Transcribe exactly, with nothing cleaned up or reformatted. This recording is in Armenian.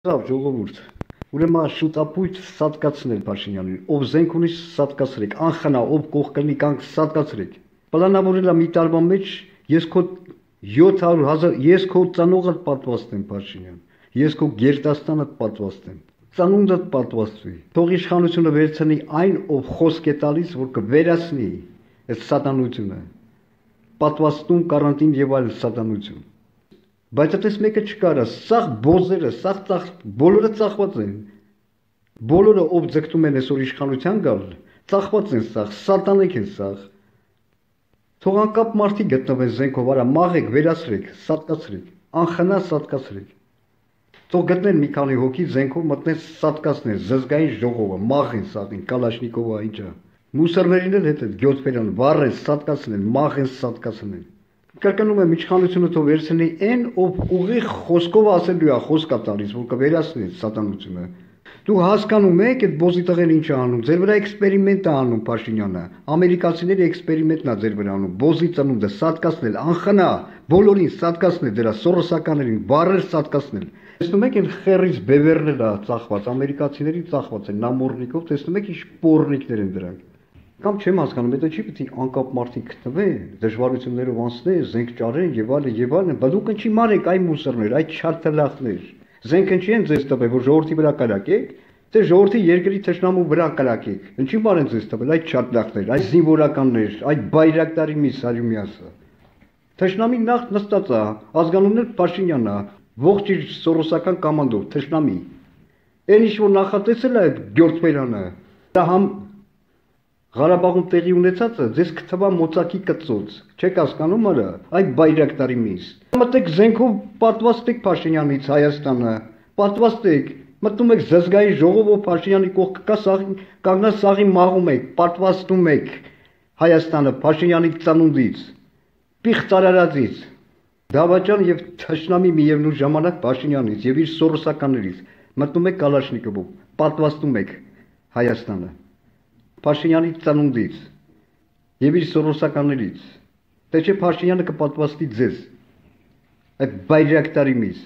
Լավ ժողովուրդ, ուրեմն շուտապույտ սատկացնել Փաշինյանին, ով զենք ունի սատկացրեք, անխնա, ով կողքնի կանք սատկացրեք։ Պլանավորելա մի տարվա մեջ ես քո յոթ հարյուր հազար, ես քո ծանողը պատվաստեմ Փաշինյան, ես քո գերդաստանը պատվաստեմ, ծանունդը պատվաստվի։ Թող իշխանությունը վերցնի այն, ով խոսք է տալիս, որ կվերացնի այդ սատանությունը, պատվաստում, կարանտին եւ այլ սատանություն։ Բայց այդպես մեկը չկարա, սաղ բոզերը, սաղ ծախ, բոլորը ծախված են, բոլորը ով ձգտում են այսօր իշխանության գալ, ծախված են սաղ, սատանեք են սաղ, թող անկապ մարդի գտնվեն զենքով, արա մաղեք, վերացրեք, սատկացրեք, անխնա սատկացրեք, թող գտնեն մի քանի հոգի զենքով մտնեն սատկացնեն, զզգային ժողովը, մաղեն սաղին, կալաշնիկովը ինչա, մուսորներին էլ հետ հետ գյոթվերան, վառեն, սատկացնեն, մաղեն, սատկացնեն։ Կրկնում եմ իշխանությունը թող վերցնի այն, ով ուղիղ խոսքով ասելու է, խոսք է տալիս, որ կվերացնի սատանությունը։ Դու հասկանում եք այդ բոզի տղեն ինչ է անում, ձեր վրա էքսպերիմենտ է անում Փաշինյանը, ամերիկացիների էքսպերիմենտն է ձեր վրա անում, բոզի ծնունդը սատկացնել, անխնա, բոլորին սատկացնել, դրա սորոսականներին, բարեր սատկացնել։ Տեսնում եք այն խերից բևերներ է ծախված, ամերիկացիների ծախված են նամորնիկով, տեսնում եք ինչ պորնիկներ են դրանք։ Կամ չեմ հասկանում, դա չի պետք է անկապ մարդիկ գտնվեն, դժվարություններով անցնեն, զենք ճարեն եւ այլն եւ այլն, բայց դուք ինչի մարեք այ մուսորներ, այ չարտելախներ։ Զենքը չի են ձեզ տվել, որ ժողովրդի վրա կրակեք, թե ժողովրդի երկրի թշնամու վրա կրակեք։ Ինչի բան են ձեզ տվել, այ չարտելախներ, այ զինվորականներ, այ բայրակտարի մի Սարյումյասը։ Թշնամի նախ նստած է, ազգանուններ Փաշինյանն է, ողջ իր սորոսական կոմանդով, թշնամի։ Այն ինչ որ նախատեսել է Գյորթվերանը, դա համ Ղարաբաղում տեղի ունեցածը ձեզ կթվա մոծակի կծոց, չեք հասկանում արա, այ բայրակտարի միս։ Մտեք զենքով պատվաստեք Փաշինյանից Հայաստանը, պատվաստեք, մտնում եք զզգայի ժողովով Փաշինյանի կողքը կա սաղի, կանգնած սաղի մաղում եք, պատվաստում եք Հայաստանը Փաշինյանի ծնունդից, պիղծ արարածից, դավաճան եւ թշնամի միևնույն ժամանակ Փաշինյանից եւ իր սորոսականներից, մտնում եք Կալաշնիկովով, պատվաստում եք Հայաստանը Փաշինյանի ծնունդից եւ իր սորոսականներից, թե չէ Փաշինյանը կպատվաստի ձեզ, այդ բայրակտարի միս։